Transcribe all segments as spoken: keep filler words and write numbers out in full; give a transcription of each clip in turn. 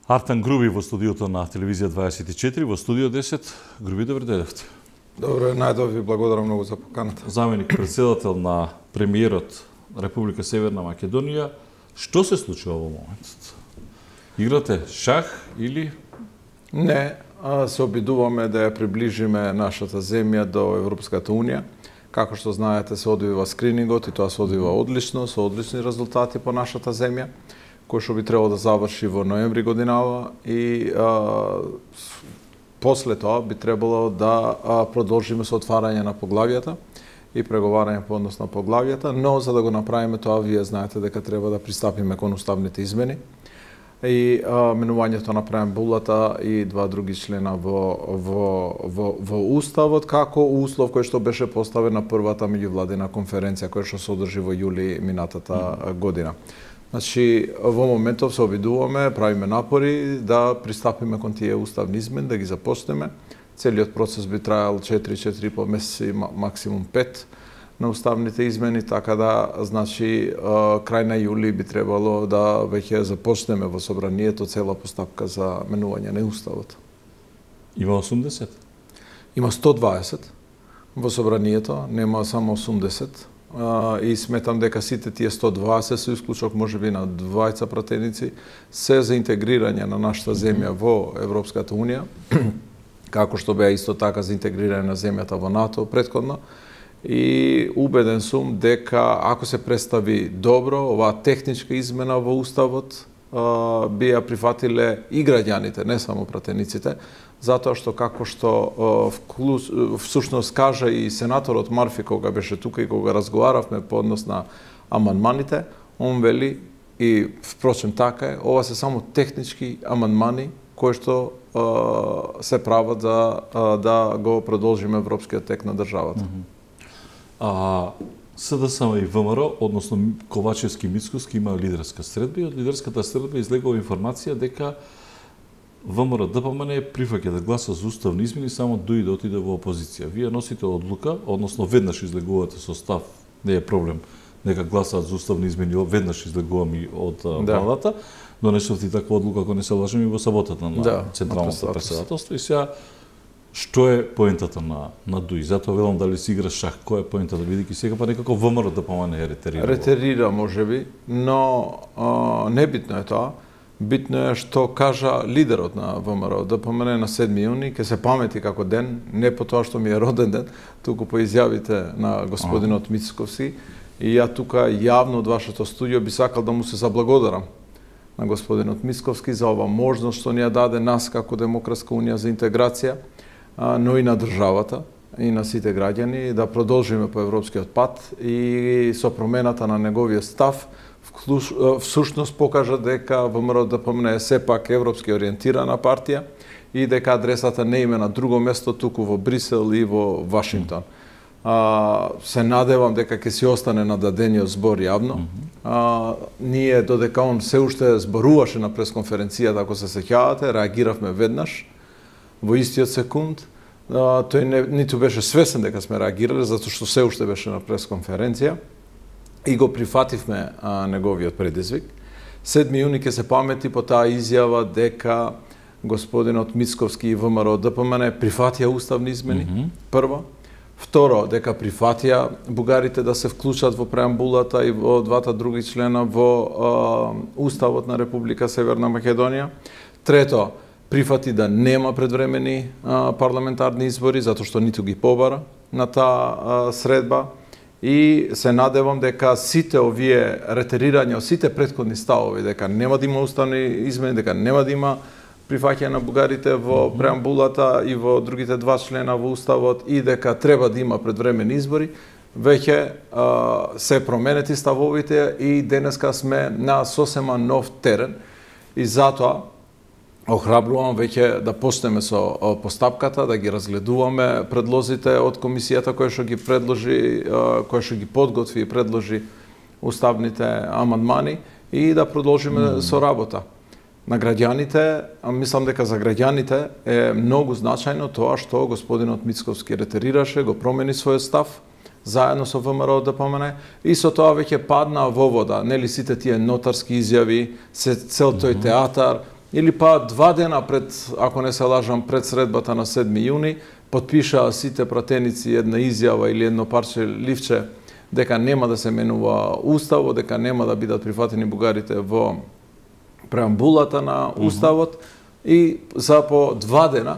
Артан Груби во студиото на Телевизија дваесет и четири, во студио десет. Груби, добро дојдовте. Добро, најдов ви благодарам многу за поканата. Заменик председател на премиерот Република Северна Македонија, што се случува во моментот? Играте шах или? Не, се обидуваме да ја приближиме нашата земја до Европската Унија. Како што знаете, се одвива скринингот и тоа се одвива одлично, со одлични резултати по нашата земја, кој што би требало да заврши во ноември годинава и а, после тоа би требало да а, продолжиме со отварање на поглавјата и преговарање по однос на поглавјата, но за да го направиме тоа, вие знаете дека треба да пристапиме кон уставните измени и а, менувањето на преамбулата и два други члена во, во, во, во Уставот, како услов кој што беше поставен на првата меѓувладина конференција која што се одржи во јули минатата mm. година. Значи, во моментов се обидуваме, правиме напори да пристапиме кон тие уставни измени, да ги започнеме. Целиот процес би траел четири-четири и по месеци, максимум пет на уставните измени, така да, значи, крај на јули би требало да веќе започнеме во собранието цела постапка за менување на уставот. Има осумдесет? Има сто дваесет во собранието, нема само осумдесет. И сметам дека сите тие сто дваесет, со исклучок можеби на двајца пратеници, се за интегрирање на нашата земја во Европската Унија, како што беа исто така за интегрирање на земјата во НАТО претходно. И убеден сум дека ако се представи добро оваа техничка измена во Уставот, би ја прифатиле и граѓаните, не само пратениците, затоа што како што всушност кажа и сенаторот Марфи кога беше тука и кога разговаравме по однос на амандманите, он вели и впрочем така е, ова се само технички амандмани кои што се прават за да го продолжиме европскиот тек на државата. Mm -hmm. А СДСМ и ВМРО, односно Ковачевски и Мицковски, има лидерска средба и од лидерската средба излегува информација дека ВМРО ДПМН прифаќа да гласа за уставни измени само дуи да отиде во опозиција. Вие носите одлука, односно веднаш излегувате со став, не е проблем, нека гласаат за уставни измени, веднаш излегувам и од да. владата, донесовте таква одлука, ако не се лажем, и во саботата на да, Централното председателство. И сега, што е поентата на, на ДУИ? Затоа велам дали си игра шах, кој е поентата, бидејќи сега па некако ВМРО ДПМН е ретерира. Ретерира можеби, но а, небитно е тоа. Битно е што кажа лидерот на ВМРО ДПМН на седми јуни, ке се памети како ден, не по тоа што ми е роден ден, туку по изјавите на господинот Мицковски. И ја тука јавно од вашето студио би сакал да му се заблагодарам на господинот Мицковски за ова можност што ни ја даде нас како Демократска унија за интеграција, но и на државата и на сите граѓани да продолжиме по европскиот пат и со промената на неговиот став всушност покажа дека ВМРО ДПМН е сепак европски ориентирана партија и дека адресата не име на друго место, туку во Брисел и во Вашингтон. А, се надевам дека ќе си остане на дадениот збор јавно. А, ние додека он се уште зборуваше на пресконференцијата, ако се сеќавате, реагиравме веднаш во истиот секунд. А, тој не, ниту беше свесен дека сме реагирале, затоа што се уште беше на пресконференција и го прифативме а, неговиот предизвик. седми јуни ќе се памети по таа изјава дека господинот Мицковски и ВМРО ДПМН прифатија уставни измени, mm -hmm. прво. Второ, дека прифатија бугарите да се вклучат во преамбулата и во двата други члена во а, Уставот на Република Северна Македонија. Трето, прифати да нема предвремени а, парламентарни избори, затоа што ниту ги побара на таа а, средба. И се надевам дека сите овие ретерирања, сите претходни ставови, дека нема да има уставни измени, дека нема да има прифаќање на бугарите во преамбулата и во другите два члена во Уставот и дека треба да има предвремени избори, веќе а, се променети ставовите и денеска сме на сосема нов терен и затоа охрабрувам веќе да почнеме со постапката, да ги разгледуваме предлозите од комисијата која што ги предложи, која што ги подготви и предложи уставните амандмани и да продолжиме mm. со работа. На граѓаните, мислам дека за граѓаните е многу значајно тоа што господинот Мицковски ретерираше, го промени својот став, заедно со ВМРО ДПМН и со тоа веќе падна во вода, нели сите тие нотарски изјави, цел тој театар или па два дена пред, ако не се лажам, пред средбата на седми јуни, потпишаа сите пратеници една изјава или едно парче ливче дека нема да се менува уставот, дека нема да бидат прифатени бугарите во преамбулата на уставот, mm-hmm. и за по два дена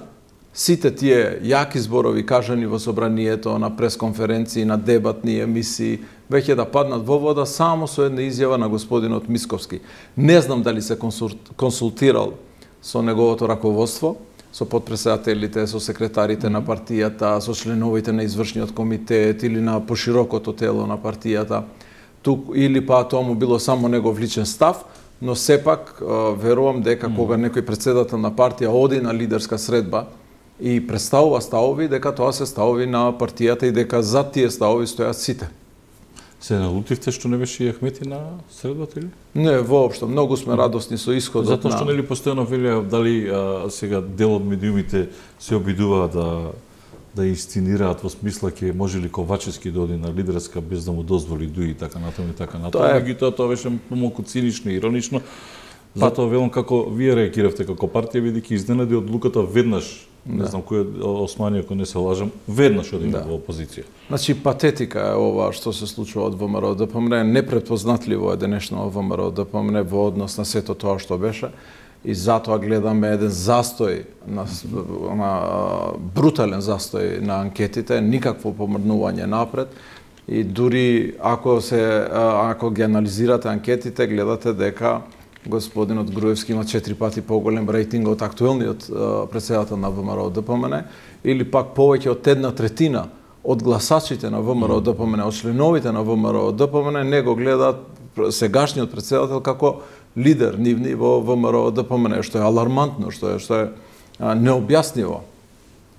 сите тие јаки зборови кажани во собранието, на пресконференции, на дебатни емисии, веќе да паднат во вода само со една изјава на господинот Мисковски. Не знам дали се консултирал со неговото раководство, со подпредседателите, со секретарите mm-hmm. на партијата, со членовите на извршниот комитет или на поширокото тело на партијата, тук или па тоа му било само негов личен став, но сепак верувам дека mm-hmm. кога некој председател на партија оди на лидерска средба и представува ставови, дека тоа се ставови на партијата и дека за тие ставови стојат сите. Се налутивте што не беше и Ахмети на средбата или? Не, воопшто. Многу сме радосни со исходот. Затоа што на... нели постојано велеа дали а, сега дел од медиумите се обидуваат да да инсценираат во смисла ќе може ли Ковачевски да оди на лидерска без да му дозволи Дуи и така натаму и така натаму. Тоа е... Меѓутоа тоа беше помалку цинично и иронично. Затоа велам како вие реагиравте како партија, бидејќи изненади одлуката веднаш, не знам кој е Османи, ако не се лажам, веднаш оди да. во опозиција. Значи патетика е ова што се случува од ВМРО ДПМН, непретпознатливо е денешно ВМРО ДПМН во однос на сето тоа што беше. И затоа гледаме еден застој, на, на брутален застој на анкетите, никакво помрднување напред. И дури ако се ако ги анализирате анкетите, гледате дека господинот Груевски има четири пати поголем рейтинг од актуелниот председател на ВМРО ДПМН, или пак повеќе од една третина од гласачите на ВМРО ДПМН, од членовите на ВМРО ДПМН не го гледаат сегашниот председател како лидер нивни во ВМРО ДПМН, што е алармантно, што е што е а, необјаснливо.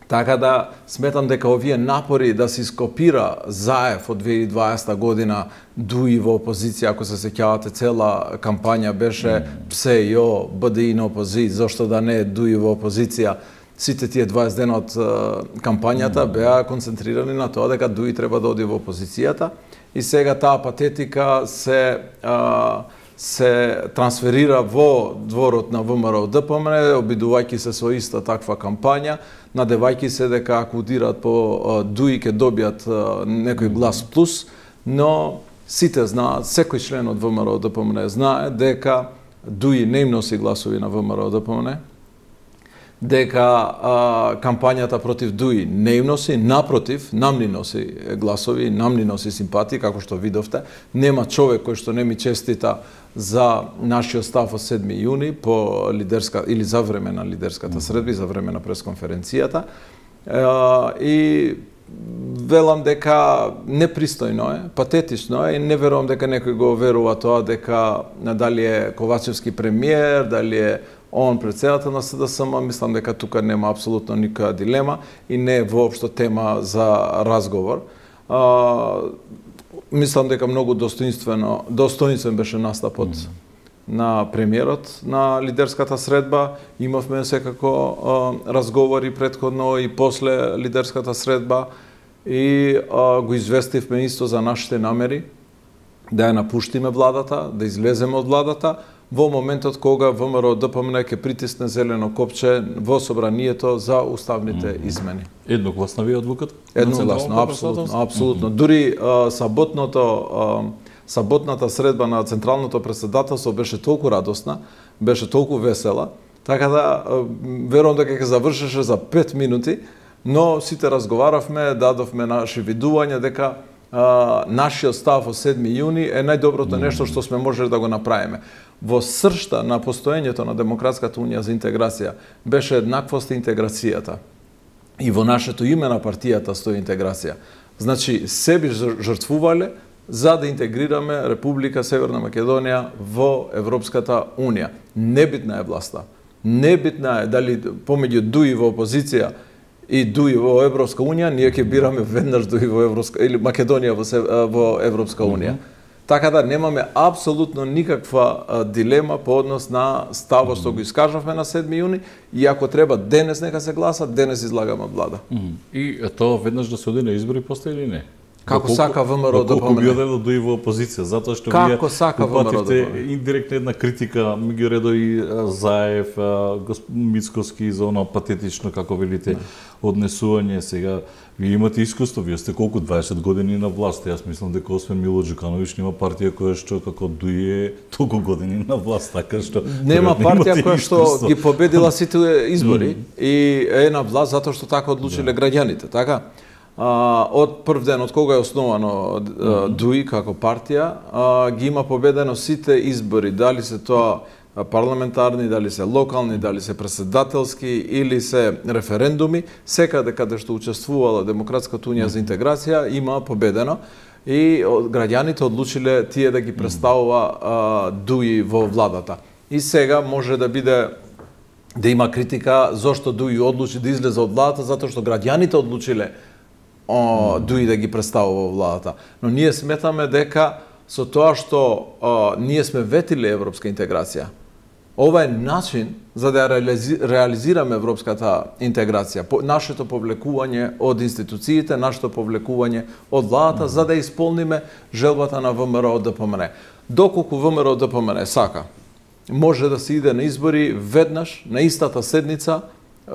Така да сметам дека овие напори да се скопира Заев од две илјади и дваесета година Дуи во опозиција, ако се сеќавате, цела кампања беше псе јо, БДИ на опозиција, зошто да не Дуи во опозиција. Сите тие дваесет дена од кампањата беа концентрирани на тоа дека Дуи треба да оди во опозицијата и сега таа патетика се а, се трансферира во дворот на ВМРО ДПМН, обидувајќи се со иста таква кампања, надевајќи се дека ако удират по Дуи ќе добијат некој глас плюс, но сите знаат, секој член од ВМРО ДПМН знае дека Дуи не им носи гласови на ВМРО ДПМН, дека а, кампањата против Дуи не им носи, напротив, нам ни носи гласови, нам ни носи симпатии, како што видовте. Нема човек кој што не ми честита за нашиот став од седми јуни по лидерска или за време на лидерската средба и за време на пресконференцијата. E, и велам дека непристојно е, патетично е и не верувам дека некој го верува тоа дека дали е Ковачевски премиер, дали е он председател на СДСМ, мислам дека тука нема апсолутно никоја дилема и не е воопшто тема за разговор. А, мислам дека многу достоинствено, достоинствен беше настапот mm. на премиерот на лидерската средба. Имавме секако а, разговори претходно и после лидерската средба и а, го известивме исто за нашите намери да ја напуштиме владата, да излеземе од владата во моментот кога ВМРО ДПМН ќе притисне зелено копче во собранието за уставните измени. Едногласна ви одлуката? Едногласно, апсолутно, апсолутно. Дури а, саботното а, саботната средба на Централното председателство беше толку радосна, беше толку весела, така да а, верувам дека ќе завршеше за пет минути, но сите разговаравме, дадовме наши видувања дека а, нашиот став од седми јуни е најдоброто нешто што сме можеле да го направиме. Во сршта на постоењето на Демократската унија за интеграција беше еднаквост и интеграцијата. И во нашето име на партијата стои интеграција. Значи, се би жртвувале за да интегрираме Република Северна Македонија во Европската унија. Небитна е власта. Небитна е дали помеѓу Дуи во опозиција и Дуи во Европска унија, ние ќе бираме веднаш Дуи во Европска или Македонија во, во Европска унија. Mm-hmm. Така да немаме апсолутно никаква а, дилема по однос на ставот што го искажавме на седми јуни и ако треба денес нека се гласа, денес излагаме од влада. Mm-hmm. И тоа веднаш да се оди на избори после или не? Како сака ВМРО да помине? Колку помине? би одредо дуи во опозиција, затоа што Како вие сака ВМРО да упативте индиректно една критика, меѓу редови Заев, господин Мицкоски за оно патетично, како велите, однесување. Сега вие имате искуство, вие сте колку дваесет години на власт. Јас мислам дека освен Мило Џукановиќ нема партија која што како дуе толку години на власт, така што нема партија која што ги победила сите избори mm. и е на власт затоа што така одлучиле да. Граѓаните, така? А, од прв ден, од кога е основано mm-hmm. ДУИ како партија, а, ги има победено сите избори, дали се тоа парламентарни, дали се локални, дали се преседателски или се референдуми, секаде каде што учествувала Демократската унија за интеграција има победено и граѓаните одлучиле тие да ги представува а, ДУИ во владата. И сега може да биде да има критика зошто ДУИ одлучи да излезе од владата, затоа што граѓаните одлучиле о, ДУИ да ги представува во владата. Но ние сметаме дека со тоа што о, ние сме ветиле европска интеграција, ова е начин за да реализираме европската интеграција, нашето повлекување од институциите, нашето повлекување од владата, за да исполниме желбата на ВМРО ДПМН. Доколку ВМРО ДПМН сака, може да се иде на избори веднаш, на истата седница,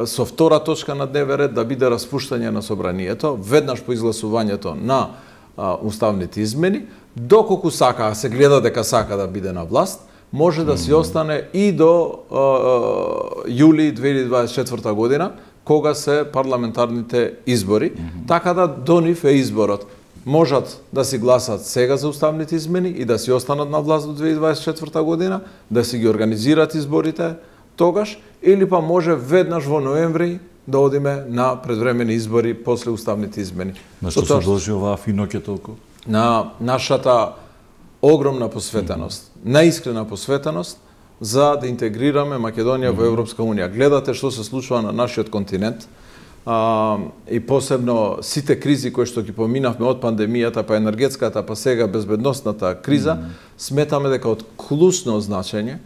со втора точка на дневен ред да биде распуштање на собранието, веднаш по изгласувањето на а, уставните измени, доколку сака, а се гледа дека сака да биде на власт, може да си остане и до а, јули две илјади дваесет и четврта година, кога се парламентарните избори, mm -hmm. така да до нив е изборот. Можат да си гласат сега за уставните измени и да си останат на власт до две илјади дваесет и четврта година, да си ги организират изборите тогаш, или па може веднаш во ноември да одиме на предвремени избори после уставните измени. На што се должи оваа финоќе толку? На нашата огромна посветеност, mm -hmm. наискрена посветеност за да интегрираме Македонија mm -hmm. во Европска унија. Гледате што се случува на нашиот континент, а, и посебно сите кризи кои што ги поминавме од пандемијата, па енергетската, па сега безбедносната криза, mm -hmm. сметаме дека од клучно значење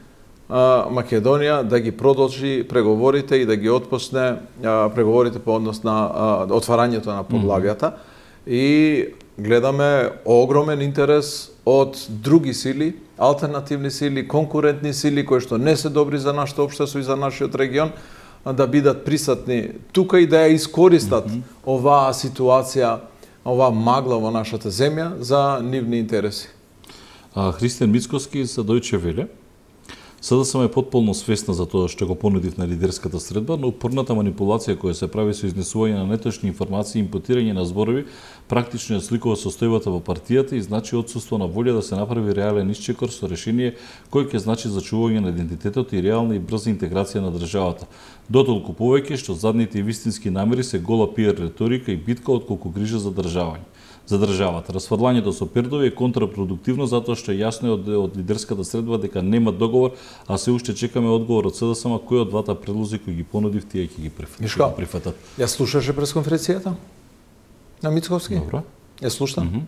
Македонија да ги продолжи преговорите и да ги отпочне преговорите по однос на отварањето на поглавјата. Mm -hmm. И гледаме огромен интерес од други сили, алтернативни сили, конкурентни сили кои што не се добри за нашето општество и за нашиот регион, да бидат присутни тука и да ја искористат mm -hmm. оваа ситуација, оваа магла во нашата земја за нивни интереси. А, Христијан Мицкоски за Дојче Веле. СДСМ е потполно свесна за тоа што го понудив на лидерската средба, но упорната манипулација која се прави со изнесување на неточни информации и импутирање на зборови практично ја сликува состојбата во партијата и значи отсуство на волја да се направи реален исчекор со решение кој ќе значи зачувување на идентитетот и реална и брза интеграција на државата. Дотолку повеќе што задните и вистински намери се гола пиар реторика и битка отколку грижа за државање. За државата. Расфрлањето со пердови е контрапродуктивно затоа што е јасно од, од лидерската средба дека нема договор, а се уште чекаме одговор од СДСМ кој од двата предлози кои ги понудив тие ќе ги прифатат. Ја слушаше пресконференцијата на Мицковски? Добро. Ја слушна? Mm -hmm.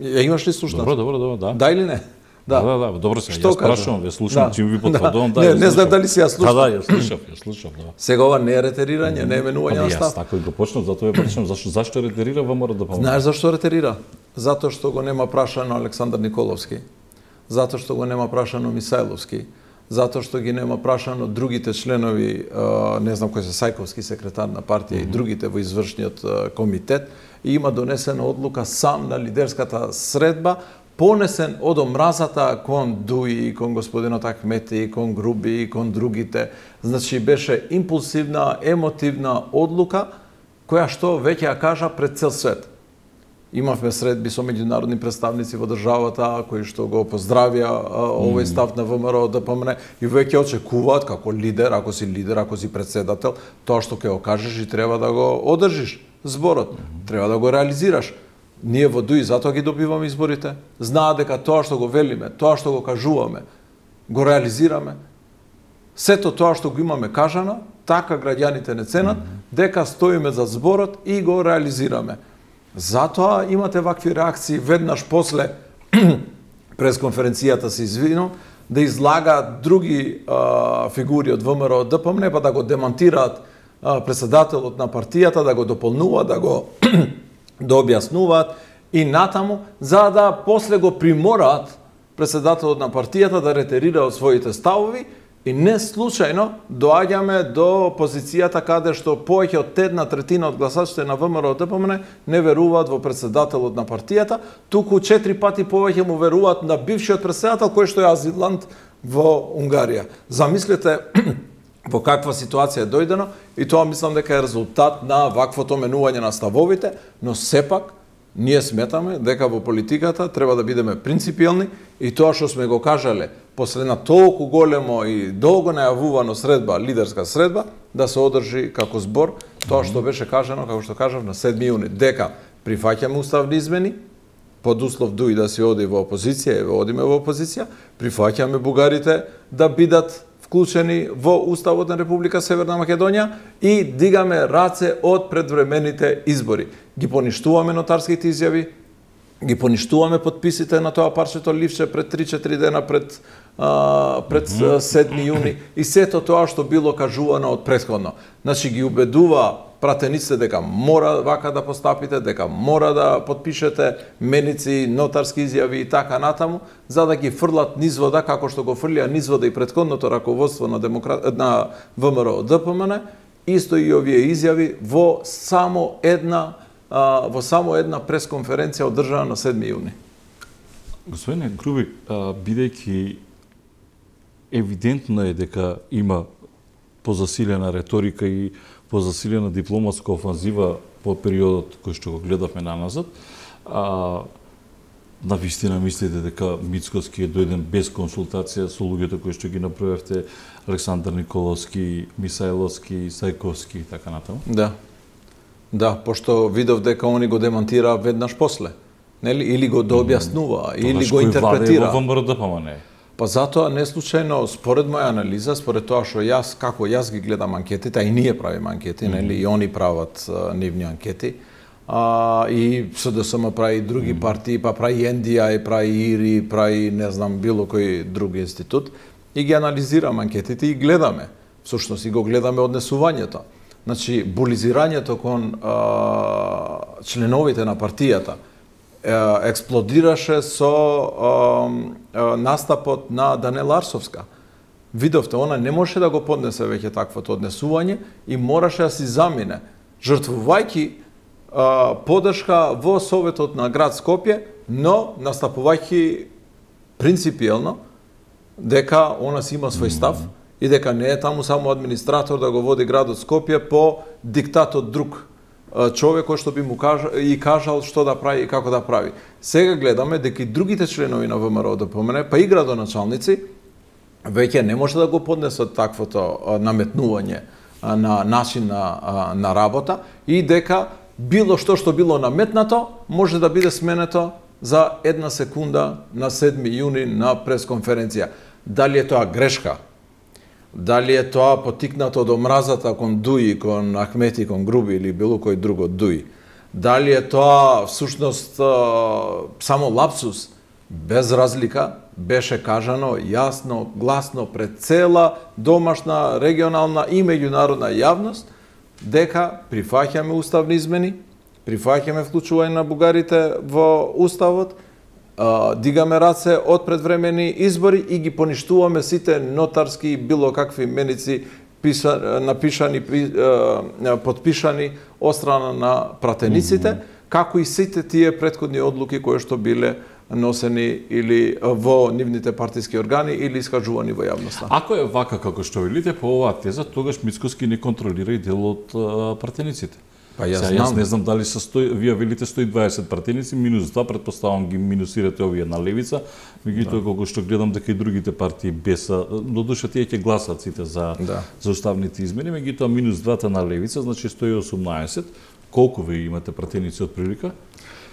Ја имаш ли слушна? Добро, добро, добро, да. Да или не? Да, да, да, добро се. Јас прашувам, ја слушам, да. чим ви потврдувам, да. Не, не знам дали си ја слушав. Да, да, ја слушав, ја слушав, да. Сега ова не е ретерирање, не е менување на став. Јас тако и го почнав, затоа ја прашувам зашто зашто ретерира ВМРО да помогне. Знаеш зашто ретерира? Затоа што го нема прашано Александар Николовски. Затоа што го нема прашано Мисајловски. Затоа што ги нема прашано другите членови, не знам кој се Сајковски, секретар на партија, mm -hmm. и другите во извршниот комитет, и има донесена одлука сам на лидерската средба, понесен од омразата кон Дуи, кон господинот Ахмети, кон Груби, кон другите. Значи беше импулсивна, емотивна одлука, која што веќе ја кажа пред цел свет. Имавме средби со меѓународни представници во државата, кои што го поздравија овој став на ВМРО ДПМН и веќе очекуваат како лидер, ако си лидер, ако си председател, тоа што ќе го кажеш и треба да го одржиш зборот, треба да го реализираш. Ние во Дуи затоа ги добиваме изборите. Знаат дека тоа што го велиме, тоа што го кажуваме, го реализираме. Сето тоа што го имаме кажано, така граѓаните не ценат, дека стоиме за зборот и го реализираме. Затоа имате вакви реакции веднаш после пресконференцијата се извинам, да излагаат други а, фигури од ВМРО ДПМН, па да го демантираат а, председателот на партијата, да го дополнуваат, да го да објаснуваат и натаму, за да после го примораат председателот на партијата да ретерира од своите ставови, и не случајно доаѓаме до позицијата каде што повеќе од една третина од гласачите на ВМРО Д П М Н не веруваат во председателот на партијата, туку четири пати повеќе му веруваат на бившиот председател кој што е азилант во Унгарија. Замислете во каква ситуација е дојдено, и тоа мислам дека е резултат на ваквото менување на ставовите, но сепак ние сметаме дека во политиката треба да бидеме принципиелни и тоа што сме го кажале после на толку големо и долго најавувано средба, лидерска средба, да се одржи како збор тоа што беше кажано, како што кажав, на седми јуни, дека прифаќаме уставни измени, под услов дуи да се оди во опозиција, и одиме во опозиција, прифаќаме бугарите да бидат вклучени во Уставот на Република Северна Македонија и дигаме раце од предвремените избори. Ги поништуваме нотарските изјави, ги поништуваме подписите на тоа парчето ливче пред три-четири дена пред а, пред седми јуни и сето тоа што било кажувано од претходно. Значи ги убедува пратениците дека мора вака да постапите, дека мора да подпишете меници, нотарски изјави и така натаму, за да ги фрлат низ вода, како што го фрлија низ вода и претходното раководство на, демократ... на ВМРО Д П М Н, исто и овие изјави во само една а, во само една пресконференција одржана на седми јуни. Господине Грубик, бидејќи евидентно е дека има позасилена реторика и позасилена дипломатска офанзива во периодот кој што го гледавме наназад, а, на вистина мислите дека Мицкоски е дојден без консултација со луѓето кои што ги направевте, Александар Николовски, Мисајловски, Сајковски и така натаму? Да. Да, пошто видов дека они го демонтира веднаш после. Нели? Или го дообјаснува, или го интерпретира. Во ВМРО Д П М Н. Па затоа не случајно, според моја анализа, според тоа што јас, како јас ги гледам анкетите, а и ние правиме анкети, mm -hmm. нели, и они прават а, нивни анкети, а, и С Д С М прави и други mm -hmm. партии, па прави Н Д А, прави ИРИ, прави, не знам, било кој друг институт, и ги анализираме анкетите и гледаме, всушност и го гледаме однесувањето. Значи, булизирањето кон а, членовите на партијата експлодираше со а, а, настапот на Данела Арсовска. Видовте, она не може да го поднесе веќе таквото однесување и мораше да си замине, жртвувајќи а, подршка во Советот на град Скопје, но настапувајќи принципиелно дека она си има свој став и дека не е таму само администратор да го води градот Скопје по диктат од друг човек кој што би му кажа, и кажал што да прави и како да прави. Сега гледаме дека и другите членови на ВМРО Д П М Н, па и градоначалници, веќе не може да го поднесат таквото наметнување на начин на, на работа и дека било што што било наметнато може да биде сменето за една секунда на седми јуни на пресконференција. Дали е тоа грешка? Дали е тоа потикнато од омразата кон Дуи, кон Ахмети, кон Груби или било кој друг од Дуи? Дали е тоа всушност само лапсус? Без разлика беше кажано јасно, гласно пред цела домашна, регионална и меѓународна јавност дека прифаќаме уставни измени, прифаќаме вклучување на бугарите во уставот, дигаме раце од предвремени избори и ги поништуваме сите нотарски и било какви меници писа, напишани, подпишани од страна на пратениците, mm -hmm. како и сите тие претходни одлуки кои што биле носени или во нивните партиски органи или искажувани во јавноста. Ако е вака како што велите по оваа теза, тогаш Мицкоски не контролира и дел од пратениците. Па јас, Сега, јас не знам дали се сто, вие велите сто и дваесет пратеници, минус два, предпоставам ги минусирате овие на левица, меѓутоа да. Колку што гледам дека и другите партии беса, додуша тие ќе гласат сите за, да. за уставните измени, меѓутоа минус двата на левица, значи сто и осумнаесет. Колку ви имате пратеници од прилика?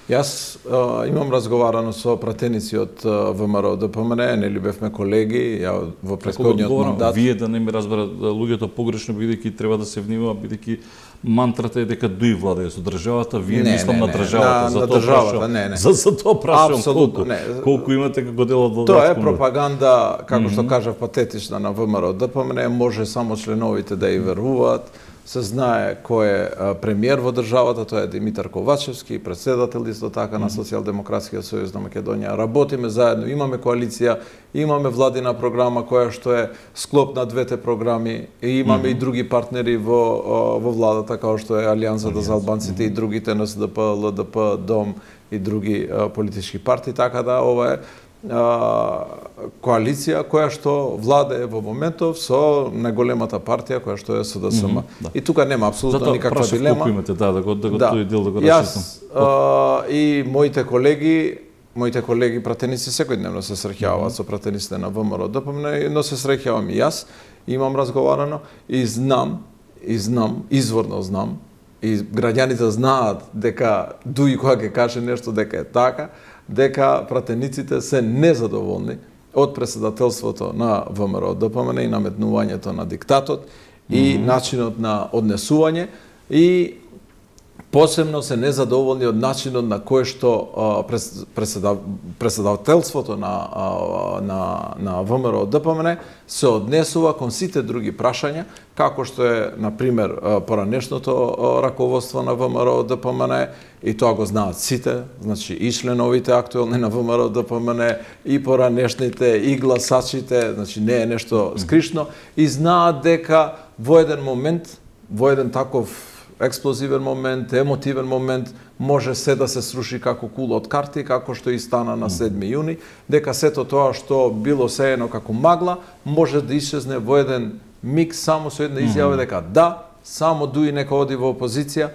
Јас а, имам разговарано со пратеници од ВМРО Д П М Н, нели бевме колеги, ја во претходниот мандат. Вие да не ме разберат луѓето погрешно, бидејќи треба да се внимава, бидејќи мантрата е дека дуи владеја со државата, вие не, мислам не, на државата, на, за на тоа државата, прашам, не, не. За, за тоа прашам Абсолютно, колку, не. колку имате како дел од Тоа е пропаганда, како mm -hmm. што кажав, патетична на ВМРО Д П М Н, може само членовите да ја веруваат, се знае кој е премиер во државата, тоа е Димитар Ковачевски, председател исто така на Социјалдемократскиот сојуз на Македонија. Работиме заедно, имаме коалиција, имаме владина програма која што е склоп на двете програми и имаме mm -hmm. и други партнери во во владата како што е Алијансата за албанците mm -hmm. и другите Н С Д П, Л Д П, Дом и други а, политички партии, така да ова е а, коалиција која што владее во моментов со најголемата партија која што е С Д С М. Mm -hmm, да. И тука нема апсолутно Зато никаква дилема. Затоа имате, да, да го да го да. тој дел да го расчистам. Јас и моите колеги, моите колеги пратеници секојдневно се среќаваат mm -hmm. со пратениците на В М Р Д П М Н, но се среќавам и јас, имам разговарано и знам, и знам, изворно знам, и граѓаните знаат дека дуи кога ќе каже нешто дека е така, дека пратениците се незадоволни од председателството на В М Р Д П М Н и наметнувањето на диктатот mm -hmm. и начинот на однесување и посебно се незадоволни од начинот на кој што председателството на на на В М Р Д П М Н се однесува кон сите други прашања, како што е на пример поранешното раководство на В М Р Д П М Н и тоа го знаат сите, значи и членовите актуелни на В М Р Д П М Н и поранешните и гласачите, значи не е нешто скришно и знаат дека во еден момент, во еден таков експлозивен момент, емотивен момент, може се да се сруши како кула од карти, како што и стана на седми јуни, дека сето тоа што било сеено како магла, може да исчезне во еден миг само со една изјава дека да, само дуи нека оди во опозиција,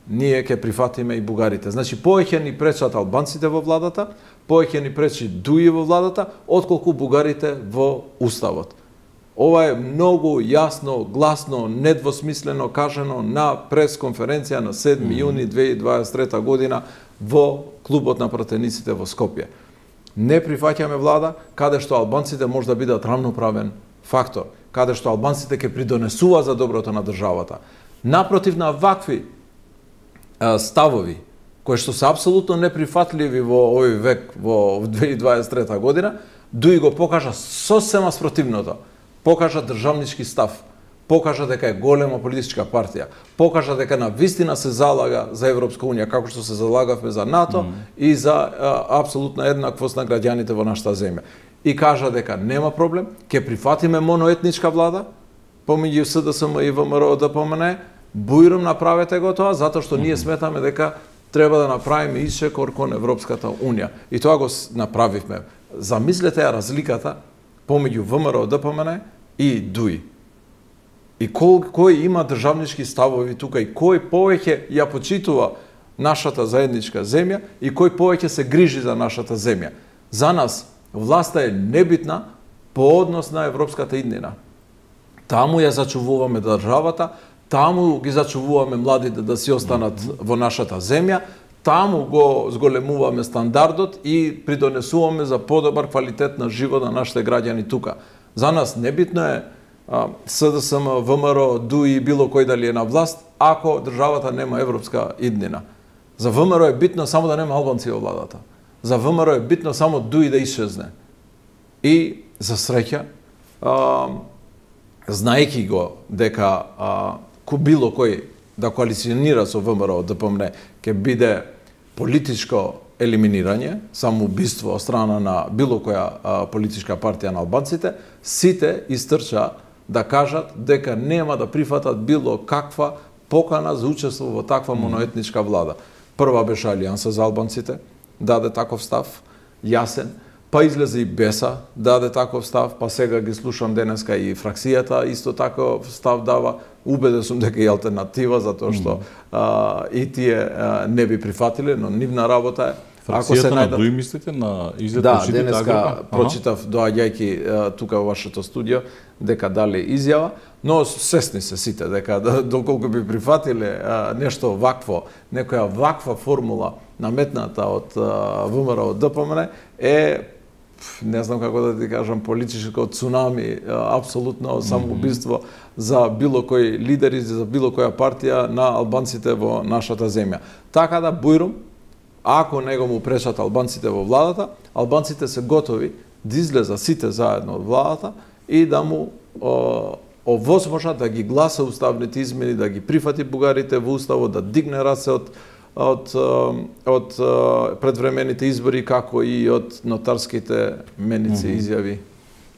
ние ќе прифатиме и бугарите. Значи, повеќе ни пречат албанците во владата, повеќе ни пречи дуи во владата, отколку бугарите во уставот. Ова е многу јасно, гласно, недвосмислено кажано на пресконференција на седми јуни две илјади дваесет и трета година во клубот на пратениците во Скопје. Не прифаќаме влада каде што албанците може да бидат рамноправен фактор, каде што албанците ќе придонесува за доброто на државата. Напротив на вакви а, ставови, кои што се апсолутно неприфатливи во овој век, во две илјади дваесет и трета година, дуи го покажа сосема спротивното. Покажа државнички став, покажа дека е голема политичка партија, покажа дека на вистина се залага за Европска унија, како што се залагавме за НАТО mm. и за а, апсолутна еднаквост на граѓаните во нашата земја. И кажа дека нема проблем, ќе прифатиме моноетничка влада, помеѓу С Д С М и В М Р Д П М Н, бујром направете го тоа, затоа што mm. ние сметаме дека треба да направиме исчекор кон Европската унија. И тоа го направивме. Замислете ја разликата помеѓу В М Р Д П М Н и дуи. И кој, кој има државнички ставови тука и кој повеќе ја почитува нашата заедничка земја и кој повеќе се грижи за нашата земја. За нас власта е небитна по однос на европската иднина. Таму ја зачувуваме државата, таму ги зачувуваме младите да си останат во нашата земја, таму го зголемуваме стандардот и придонесуваме за подобар квалитет на живот на нашите граѓани тука. За нас небитно е а, С Д С М, В М Р, дуи било кој дали е на власт, ако државата нема европска иднина. За В М Р е битно само да нема албанци во владата. За В М Р е битно само дуи да исчезне. И за среќа, а, знаеки го дека а, ко било кој да коалиционира со В М Р Д П М Н ќе биде политичко елиминирање, самоубиство од страна на било која а, политичка партија на албанците, сите истрча да кажат дека нема да прифатат било каква покана за учество во таква моноетничка влада. Прва беше Алијанса за албанците, даде таков став, јасен, па излезе и Беса, даде таков став, па сега ги слушам денеска и фракцијата исто таков став дава. Убеден сум дека и алтернатива, затоа што а, и тие а, не би прифатиле, но нивна работа е. Фракцијата се најдат... на дуи мислите на излет да, денеска прочитав доаѓајќи тука во вашето студио дека дали изјава, но сесни се сите дека да, доколку би прифатиле а, нешто вакво, некоја ваква формула наметната од В М Р Д П М Н е, не знам како да ти кажам, политичко цунами, апсолутно самоубиство за било кој лидер и за било која партија на албанците во нашата земја. Така да, бујрум, ако него му пречат албанците во владата, албанците се готови да излезат сите заедно од владата и да му о, овозможа да ги гласа уставните измени, да ги прифати бугарите во уставот, да дигне раце од од од предвремените избори, како и од нотарските меници mm-hmm. изјави.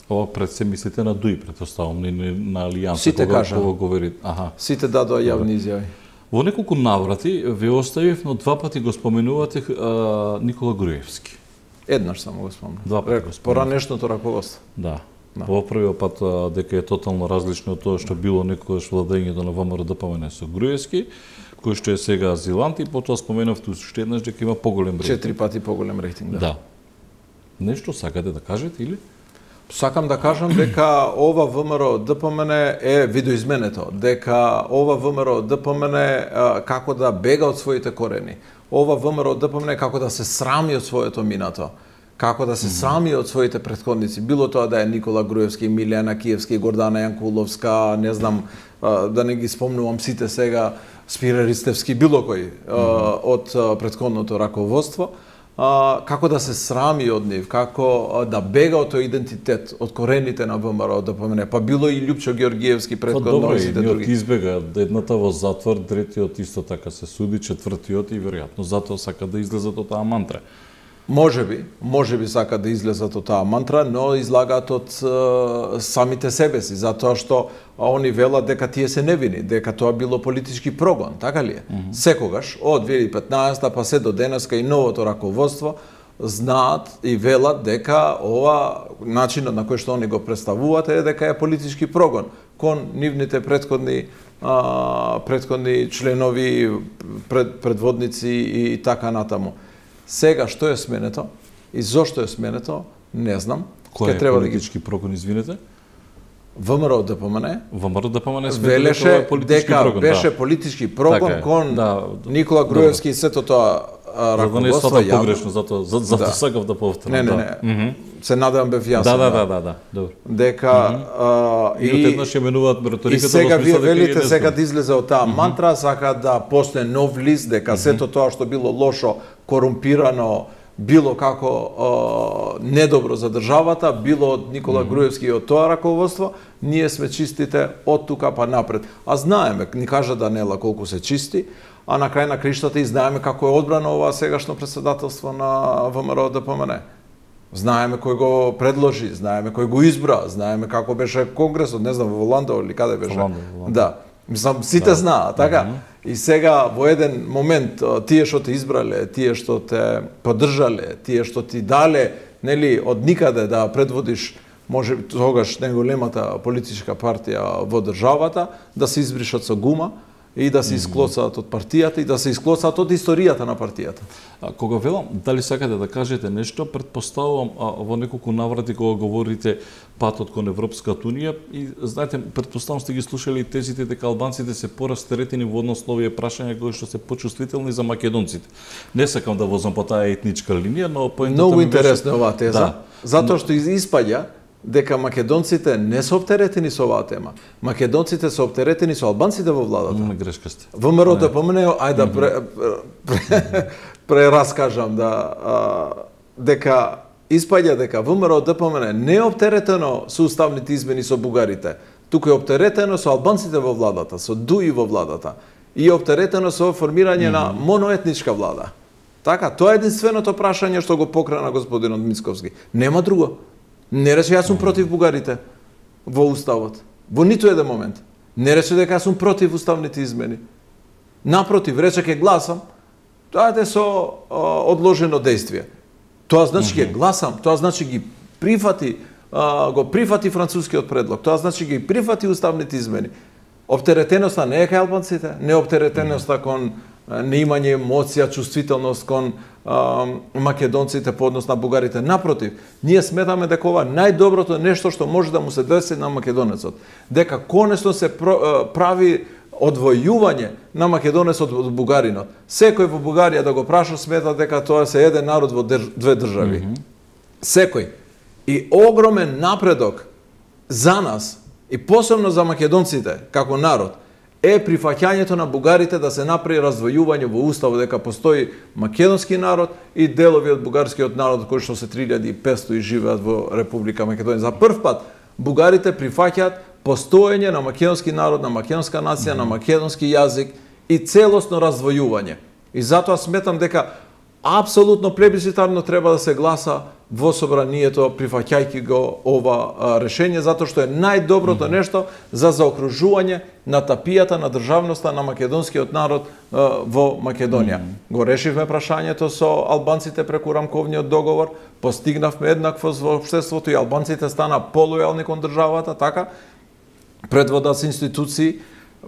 Ова пред се мислите на ДУИ, претпоставам, не на Алијанса, Сите кога кажа. кога говори. Аха. Сите дадоа јавни изјави. Во неколку наврати ве оставив, но два пати го споменувате а, Никола Груевски. Еднаш само го спомнам. Два пати го спомнам. Поранешното раководство. Да. Да. Во првиот пат а, дека е тотално различно од тоа што било некогаш владењето на ВМРО Д П М Н со Груевски, кој што е сега азилант, и потоа споменавте уште еднаш дека има поголем рейтинг. Четири пати поголем рейтинг, да. Да. Нешто сакате да кажете или? Сакам да кажам дека ова ВМРО Д П М Н е видоизменето, дека ова ВМРО Д П М Н како да бега од своите корени. Ова ВМРО Д П М Н како да се срами од своето минато, како да се срами од своите претходници, било тоа да е Никола Груевски, Милјана Киевски, Гордана Јанкуловска, не знам, да не ги спомнувам сите сега, Спире Ристевски, било кој од претходното раководство, како да се срами од нив, како да бега од тој идентитет, од корените на ВМРО Д П М Н, па било и Љупчо Георгиевски предходно и сите други. Добре, избега, едната во затвор, третиот исто така се суди, четвртиот и веројатно затоа сака да излезат од таа мантра. Може би, може би сака да излезат од таа мантра, но излагаат од е, самите себе си, затоа што они велат дека тие се невини, дека тоа било политички прогон, така ли е? Mm -hmm. Секогаш, од две илјади и петнаесета па се до денеска и новото раководство знаат и велат дека ова начинот на кој што они го представуваат е дека е политички прогон кон нивните претходни а, претходни членови, пред, предводници и така натаму. Сега што е сменето и зошто е сменето, не знам. Кој е политички прогон, извинете? ВМРО Д П М Н ВМРО Д П М Н велеше дека прогон, беше да. политички прогон така кон да, Никола Груевски и сето тоа раководство. За да не е погрешно, затоа за, за, да. сакав да повторам. Не, не, не. Да. Mm -hmm. Се надевам бев јасен. Да, да, да, да, да. Добро. Дека mm -hmm. а, и, и одеднаш ја менуваат риториката. И сега вие велите сега да излезе од таа mm -hmm. мантра, сака да постане нов лист, дека mm -hmm. сето тоа што било лошо, корумпирано, било како а, недобро за државата, било од Никола mm -hmm. Груевски и од тоа раководство, ние сме чистите од тука па напред. А знаеме, ни кажа Данела колку се чисти, а на крај на криштата и знаеме како е одбрано ова сегашно председателство на ВМРО Д П М Н. Знаеме кој го предложи, знаеме кој го избра, знаеме како беше конгресот, не знам, во Ландо или каде беше. Ландо, Ландо. Да. Мислам, сите да. знаат, така? Mm -hmm. И сега, во еден момент, тие што те избрале, тие што те поддржале, тие што ти дале, нели, од никаде да предводиш, може тогаш најголемата политичка партија во државата, да се избришат со гума и да се исклоцаат од партијата и да се исклоцаат од историјата на партијата. А кога велам, дали сакате да кажете нешто, предпоставувам а, во неколку наврати кога говорите патот кон Европската унија и знаете, предпоставувам сте ги слушали тезите дека албанците се порастеретени во однос на овие прашања кои што се почувствителни за македонците. Не сакам да возам по таа етничка линија, но поентата Многу ми интересна беше... оваа теза, да. затоа што испаѓа дека македонците не се оптеретени со оваа тема. Македонците се оптеретени со албанците во владата. Не грешка сте. ВМРО Д П М Н, ајде да пре, пре, прераскажам да а, дека испаѓа дека ВМРО Д П М Н не е оптеретено со уставните измени со бугарите, туку е оптеретено со албанците во владата, со ДУИ во владата и е оптеретено со формирање mm -hmm. на моноетничка влада. Така, тоа е единственото прашање што го покрена господинот Мицковски. Нема друго. Не рече јас сум против бугарите во уставот. Во ниту еден момент. Не рече дека јас сум против уставните измени. Напротив, рече ке гласам, тоа е со о, одложено действие. Тоа значи ке гласам, тоа значи ги прифати, а, го прифати францускиот предлог, тоа значи ги прифати уставните измени. Оптеретеноста не е кај албанците, не оптеретеноста кон неимање емоција, чувствителност кон а, македонците по однос на бугарите. Напротив, ние сметаме дека ова најдоброто нешто што може да му се деси на македонецот. Дека конечно се прави одвојување на македонецот од бугаринот. Секој во Бугарија да го праша смета дека тоа се еден народ во две држави. Mm -hmm. Секој. И огромен напредок за нас и посебно за македонците како народ е прифаќањето на бугарите да се направи раздвојување во уставот дека постои македонски народ и делови од бугарскиот народ кои што се три илјади и петсто и живеат во Република Македонија. За прв пат бугарите прифаќаат постоење на македонски народ, на македонска нација, на македонски јазик и целосно раздвојување. И затоа сметам дека апсолутно плебисцитарно треба да се гласа во собранието прифаќајќи го ова решение, затоа што е најдоброто нешто за заокружување на тапијата на државноста на македонскиот народ во Македонија. Го решивме прашањето со албанците преку рамковниот договор, постигнавме еднаквост во општеството и албанците стана полојални кон државата, така? Предводат институции.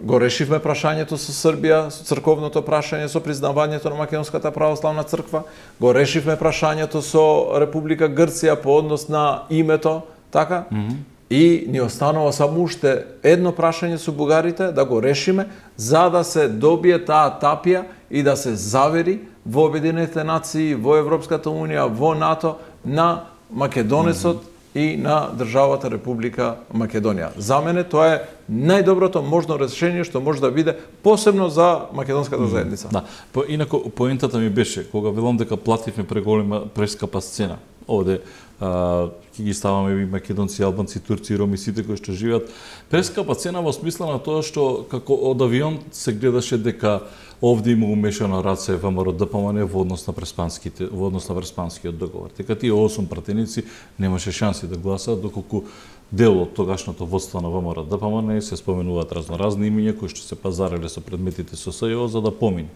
Го решивме прашањето со Србија, со црковното прашање, со признавањето на Македонската православна црква. Го решивме прашањето со Република Грција по однос на името, така? Mm -hmm. И ни останува само уште едно прашање со бугарите, да го решиме, за да се добие таа тапија и да се завери во Обединетите нации, во Европската унија, во НАТО, на македонецот mm -hmm. и на државата Република Македонија. За мене тоа е најдоброто можно решение што може да биде посебно за македонската заедница. Да, по инако поентата ми беше кога велам дека плативме преголема прескапа сцена. Овде ќе ги ставаме и македонци, албанци, турци, роми, сите кои што живеат. Прескапа цена во смисла на тоа што како од авион се гледаше дека овде има умешана раце ВМРО ДПМН во однос на преспанските, во однос на преспанскиот договор. Дека тие осум пратеници немаше шанси да гласаат доколку дел од тогашното водство на ВМРО ДПМН се споменуваат разноразни имиња кои што се пазареле со предметите со СЈО за да помине.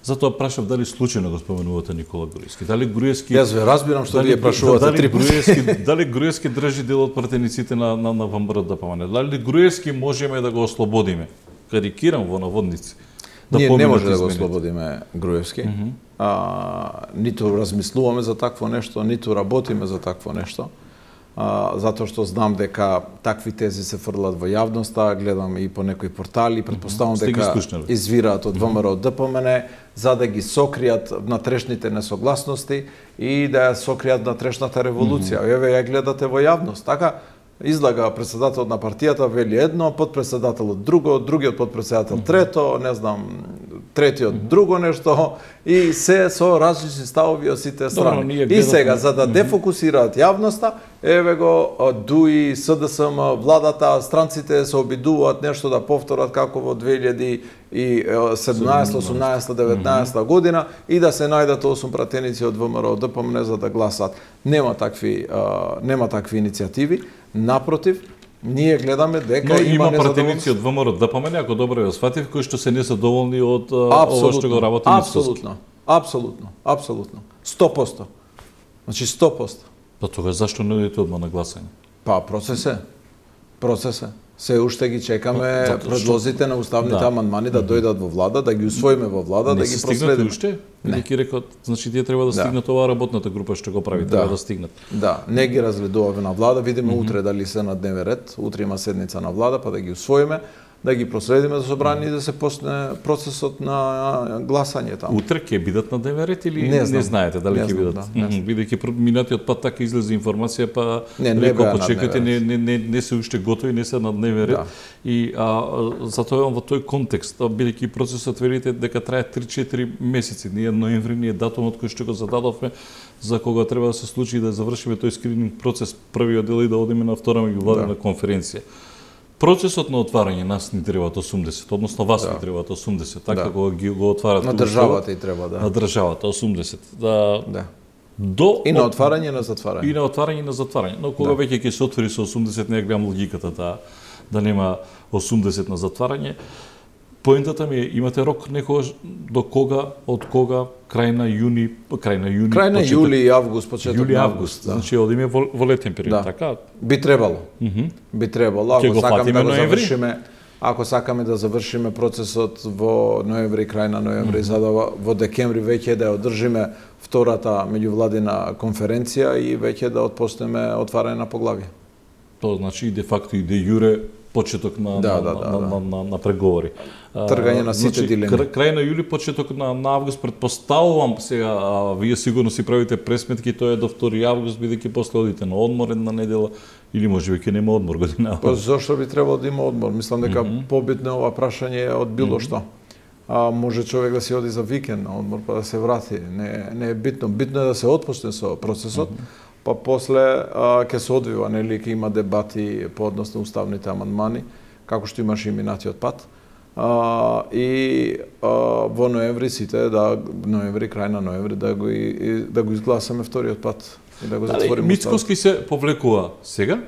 Затоа прашав дали случајно го споменувате Никола Груевски. Дали Груевски Јас ве разбирам што вие прашувате дали три Груевски, дали Груевски држи дел од пратениците на на, на ВМРО ДПМН? Дали Груевски можеме да го ослободиме? Карикирам во наводници. Да Ние не може да го ослободиме Груевски. Mm -hmm. а, ниту размислуваме за такво нешто, ниту работиме за такво нешто. А, затоа што знам дека такви тези се фрлат во јавноста, гледам и по некои портали, предпоставам mm -hmm. дека извираат од ВМРО ДПМН за да ги сокријат внатрешните несогласности и да ја сокријат внатрешната револуција. Mm -hmm. Еве ја гледате во јавност, така? Излага председателот на партијата вели едно, подпредседателот друго, другиот подпредседател трето, не знам, третиот друго нешто и се со различни ставови од сите страни. Добро, и сега за да дефокусираат јавноста, еве го ДУИ, СДСМ, владата, странците се обидуваат нешто да повторат како во две илјади и седумнаесета, осумнаесета, деветнаесета година и да се најдат осум пратеници од ВМРО ДПМН за да гласат. Нема такви нема такви иницијативи. Напротив, ние гледаме дека Но има, има пратеници од ВМРО ДПМН, ако добро ја сватив, кои што се не се доволни од ова што го работи Мицкоски. Апсолутно, апсолутно, апсолутно. сто проценти. Значи сто проценти. Па тога зашто не одите одма на гласање? Па процес е. Процес е. Се уште ги чекаме Зато, предлозите на уставните да. амандмани да дојдат во влада, да ги усвоиме во влада, не да ги проследиме. Уште? Не ги рекот, значи тие треба да, да стигнат оваа работната група што го прави, да. треба да стигнат. Да, не ги разгледуваме на влада, видиме mm -hmm. утре дали се на дневен ред, утре има седница на влада, па да ги усвоиме, да ги проследиме за собрание и да се почне процесот на гласање таму. Утре ќе бидат на дневен ред или не, не знаете дали не ќе бидат? Да, бидејќи минатиот пат така излезе информација, па не, не рекол почекате, не, не, не, не се уште готови, не се на дневен ред. Да. И а, затоа во тој контекст, бидејќи процесот велите дека трае три-четири месеци, ние ноември, ние датумот кој што го зададовме за кога треба да се случи да завршиме тој скрининг процес, првиот дел и да одиме на втора меѓувладина да. конференција. Процесот на отварање нас ни требаат осумдесет, односно вас да. ни требаат осумдесет, така да. кога ги го отварат на државата и треба да. На државата осумдесет. Да. Да. До и на отварање и на затварање. И на отварање и на затварање. Но кога да. веќе ќе се отвори со осумдесет, не гледам логиката да да нема осумдесет на затварање. Поентата ми е, имате рок некогаш до кога, од кога, крај на јуни, крај на јуни, крај на почеток, јули и август, почеток јули август, да. Значи одиме во, во летен период, да. така? Би требало. Mm -hmm. Би требало, ако сакаме да го завршиме, ако сакаме да завршиме процесот во ноември, крај на ноември, mm -hmm. за да во декември веќе да одржиме втората меѓувладина конференција и веќе да отпочнеме отварање на поглавје. Тоа значи де факто и де јуре почеток на, да, на, да, на, да, на, на, на преговори. Тргање на сите значи, дилеми. Крај на јули, почеток на, на август, предпоставувам сега, а, вие сигурно си правите пресметки, тоа е до втори август, бидејќи после одите на одмор една недела, или може би ќе нема одмор година. Па зошто би требало да има одмор? Мислам дека mm -hmm. побитно е ова прашање од било mm -hmm. што. А може човек да си оди за викенд на одмор па да се врати. Не, не е битно. Битно е да се отпочне со процесот. Mm -hmm. па после а, ќе се одвива, нели, ќе има дебати по однос на уставните амандмани, како што имаше и минатиот пат. А, и а, во ноември сите, да, ноември, крај на ноември, да го, и, да го изгласаме вториот пат и да го затвориме. Мицкоски се повлекува сега?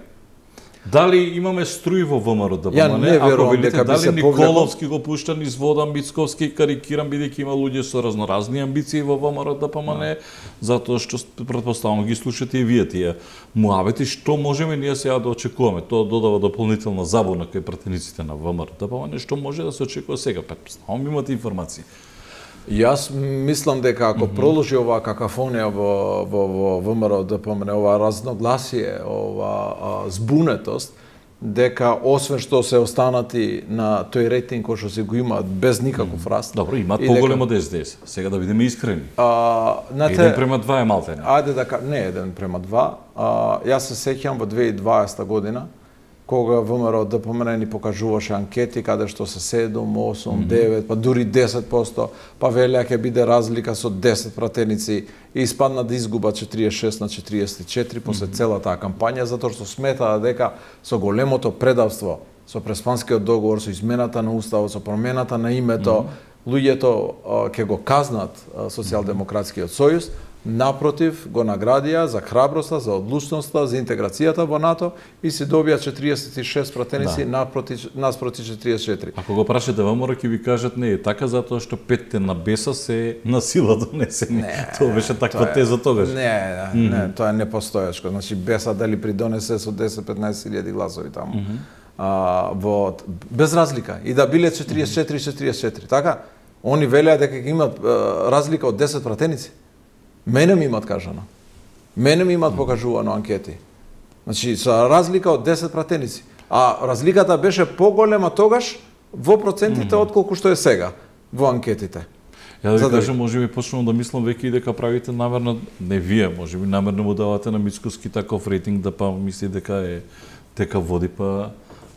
Дали имаме струи во ВМРО да Ја не верувам дека би се повлекол. Николовски го пушта низ вода, Мицковски карикирам, бидејќи има луѓе со разноразни амбиции во ВМРО да помане, затоа што претпоставувам ги слушате и вие тие муавети, што можеме ние сега да очекуваме? Тоа додава дополнителна забуна кај пратениците на ВМРО да помане, што може да се очекува сега? Претпоставувам имате информации. Јас мислам дека ако mm -hmm. продолжи оваа какафонија во во во ВМРО да помне ова разногласие, ова а, збунетост, дека освен што се останати на тој рейтинг кој што се го имаат без никаков раст. Добро, имаат поголем од ес де ес. Сега да бидеме искрени. А, на еден према два е малтене. Ајде да не еден према два. А, јас се сеќавам во две илјади и дваесета година кога ВМРО да помне ни покажуваше анкети каде што се седум, осум, девет, па дури десет проценти, па велеа ќе биде разлика со десет пратеници и испадна да изгуба четириесет и шест на четириесет и четири после цела таа кампања, затоа што сметаа дека со големото предавство, со Преспанскиот договор, со измената на уставот, со промената на името, луѓето ќе го казнат Социјалдемократскиот сојуз. Напротив, го наградија за храброста, за одлучноста, за интеграцијата во НАТО и се добија четириесет и шест пратеници, да, напроти, наспроти четириесет и четири. Ако го прашате ВМРО ќе ви кажат не е така, затоа што петте на беса се на сила донесени. Не, тоа беше таква теза тогаш. Не, не, mm -hmm. не, тоа е непостоечко. Значи беса дали придонесе со десет до петнаесет илјади гласови таму. Mm -hmm. а, во, без разлика. И да биле четириесет и четири четириесет и четири, така? Они велеа дека ќе имат а, разлика од десет пратеници. Мене ми имат кажано. Мене ми имат покажувано анкети. Значи, со разлика од десет пратеници. А разликата беше поголема тогаш во процентите mm -hmm. отколку што е сега во анкетите. Ја да ви кажам, може би почнувам да мислам веќе и дека правите намерно, не вие, може би намерно му давате на Мицкоски таков рейтинг да па мисли дека е дека води па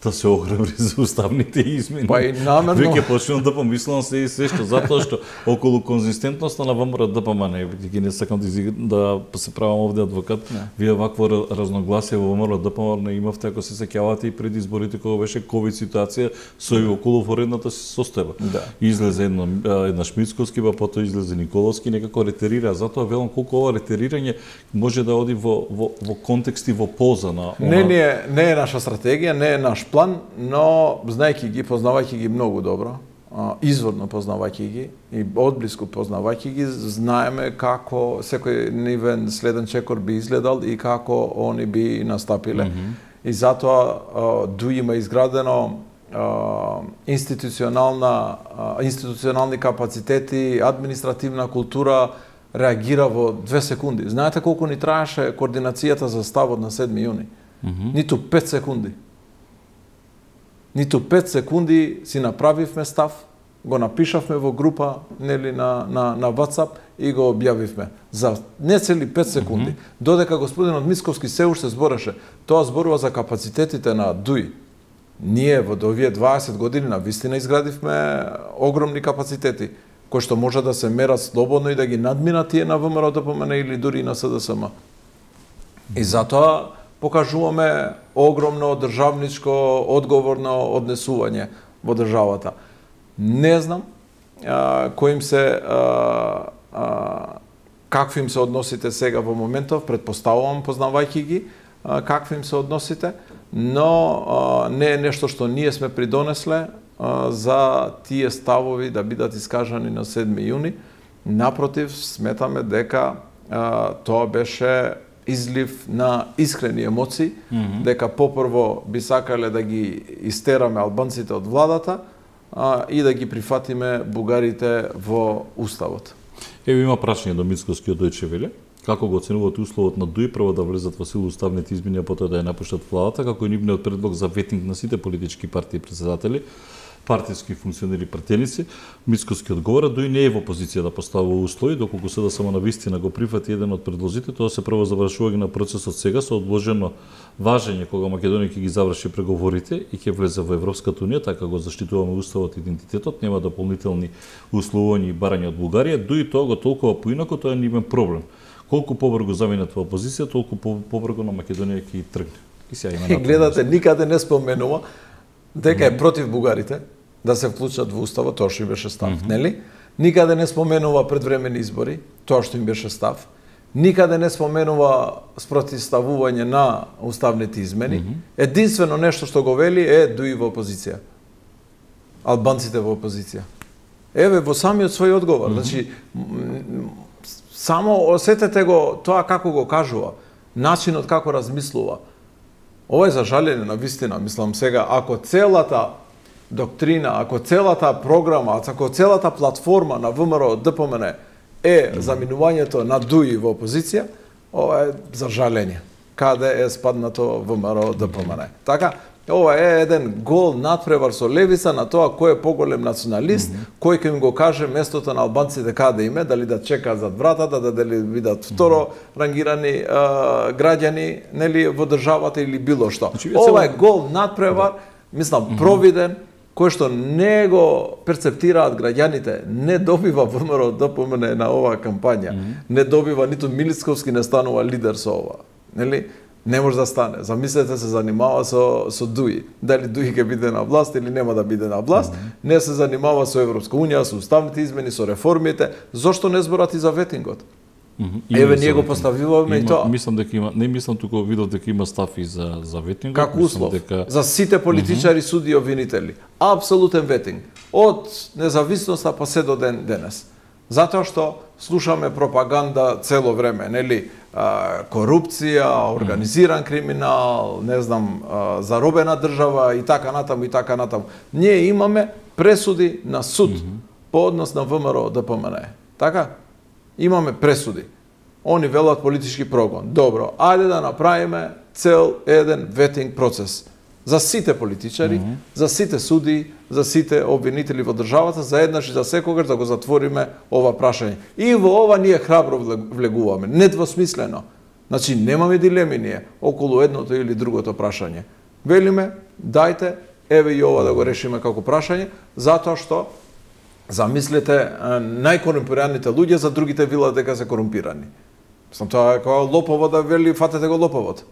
да се ограбри за уставните измени. Па и намерно. Веќе почнувам да помислам се и се што, затоа што околу конзистентноста на ВМРО да помане, бидејќи не сакам да, да се правам овде адвокат, не. Вие вакво разногласие во ВМРО да помане имавте, ако се сеќавате и пред изборите кога беше ковид ситуација со и околу воредната состојба. Да. Излезе едно една Мицковски, па потоа излезе Николовски, некако ретерира, затоа велам колку ова ретерирање може да оди во во во контекст и во полза на она... Не, не, не е наша стратегија, не е наш план, но знајќи ги, познавајќи ги многу добро, изворно познавајќи ги и одблиску познавајќи ги, знаеме како секој нивен следен чекор би изгледал и како они би настапиле. Mm -hmm. И затоа ду има изградено институционална институционални капацитети, административна култура, реагира во две секунди. Знаете колку ни траеше координацијата за ставот на седми јуни? Mm -hmm. Ниту пет секунди. Ниту пет секунди си направивме став, го напишавме во група, нели на на на WhatsApp и го објавивме за не цели пет секунди. Mm -hmm. Додека господинот Мицковски се уште збореше, тоа зборува за капацитетите на ДУИ. Ние во овие дваесет години на вистина изградивме огромни капацитети кои што може да се мерат слободно и да ги надминат тие на ВМРО да помene или дури на С Д С М. И затоа покажуваме огромно државничко, одговорно однесување во државата. Не знам а, кој им се а, а, какви им се односите сега во моментов, претпоставувам познавајќи ги а, какви им се односите, но а, не е нешто што ние сме придонесле а, за тие ставови да бидат искажани на седми јуни. Напротив, сметаме дека а, тоа беше излив на искрени емоции, mm -hmm. дека попрво би сакале да ги истераме албанците од владата а, и да ги прифатиме бугарите во уставот. Ево има прашање до Мицковскиот Дојче Веле. Како го оценувате условот на ДУИ прво да влезат во сила уставните измени, а потоа да ја напуштат владата, како и нивниот предлог за ветинг на сите политички партии и председатели, партиски функционери пратеници? Мицковски одговора, ДУИ не е во позиција да поставува услови, доколку се да само на вистина го прифати еден од предлозите, тоа се прво завршување на процесот сега со одложено важење кога Македонија ќе ги заврши преговорите и ќе влезе во Европската унија, така го заштитуваме уставот и идентитетот, нема дополнителни условувања и барања од Бугарија. ДУИ тоа го толкува поинако, тоа е нивен проблем. колку побрзо заминат во опозиција, толку побрзо на Македонија ќе тргне. И сега има напомнено. Гледате, никаде не споменува дека е против бугарите да се вклучат во уставот, тоа што им беше став, mm -hmm. нели? Никаде не споменува предвремени избори, тоа што им беше став. Никаде не споменува спротивставување на уставните измени. Mm -hmm. Единствено нешто што го вели е Дуи во опозиција. Албанците во опозиција. Еве во самиот свој одговор, mm -hmm. значи само осетете го тоа како го кажува, начинот како размислува. Ова е за жалење на вистина, мислам сега, ако целата доктрина, ако целата програма, ако целата платформа на ВМРО ДПМН е заминувањето на Дуи во опозиција, ова е за жалење. Каде е спаднато ВМРО ДПМН? Така, ова е еден гол надпревар со левица на тоа кој е поголем националист, mm -hmm. кој ќе им го каже местото на албанците каде им е, дали да чекаат зад вратата, да дали бидат второ рангирани а, граѓани, нели во државата или било што. Значи, ова е гол надпревар, мислам, mm -hmm. провиден, кој што не го перцептираат граѓаните, не добива ВМРО ДПМН на оваа кампања, mm -hmm. не добива ниту Милицковски не станува лидер со ова, нели? Не може да стане. Замислете се занимава со со Дуи. Дали Дуи ќе биде на власт или нема да биде на власт, mm -hmm. не се занимава со Европска унија, со уставните измени, со реформите. Зошто не зборат и за ветингот? Mm -hmm. Еве ние го поставиваме и тоа. Мислам дека има, не мислам туку видов дека има став и за за ветингот. Како услов дека... за сите политичари, mm -hmm. суди и обвинители. Апсолутен ветинг. Од независноста па се до ден денес. Затоа што слушаме пропаганда цело време, нели? Корупција, организиран криминал, не знам, заробена држава и така натаму и така натаму. Ние имаме пресуди на суд mm -hmm. по однос на ВМРО ДПМН. Така? Имаме пресуди. Они велат политички прогон. Добро, ајде да направиме цел еден ветинг процес за сите политичари, mm -hmm. за сите суди, за сите обвинители во државата, за еднаш и за секогаш да го затвориме ова прашање. И во ова ние храбро влегуваме, недвосмислено. Значи, немаме дилеми ние околу едното или другото прашање. Велиме, дајте, еве и ова да го решиме како прашање, затоа што, замислете, најкорумпираните луѓе за другите вилат дека се корумпирани. Сам тоа е како лопово да вели, фатете го лоповот.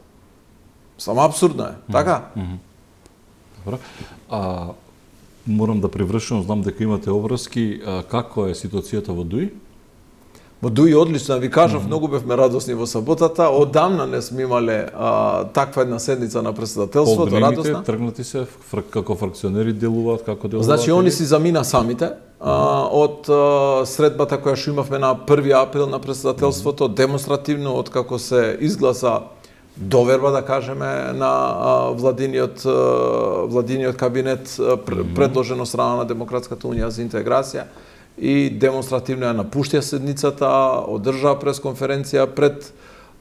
Само абсурдно е, така? Mm -hmm. Добро. А, морам да привршувам, знам дека имате обврски, а, како е ситуацијата во Дуи? Во Дуи одлично, ви кажав, mm -hmm. многу бевме радосни во саботата, одамна не сме имале а, таква една седница на претседателството, радосна. Тргнати се, фр како фракционери делуваат, како делуваат? Значи, они си замина самите, а, од а, средбата која што имавме на први април на претседателството, mm -hmm. демонстративно, од како се изгласа доверба, да кажеме, на а, владиниот, а, владиниот кабинет а, пр предложен од страна на Демократската унија за интеграција и демонстративно ја напуштија седницата, одржаа пресконференција пред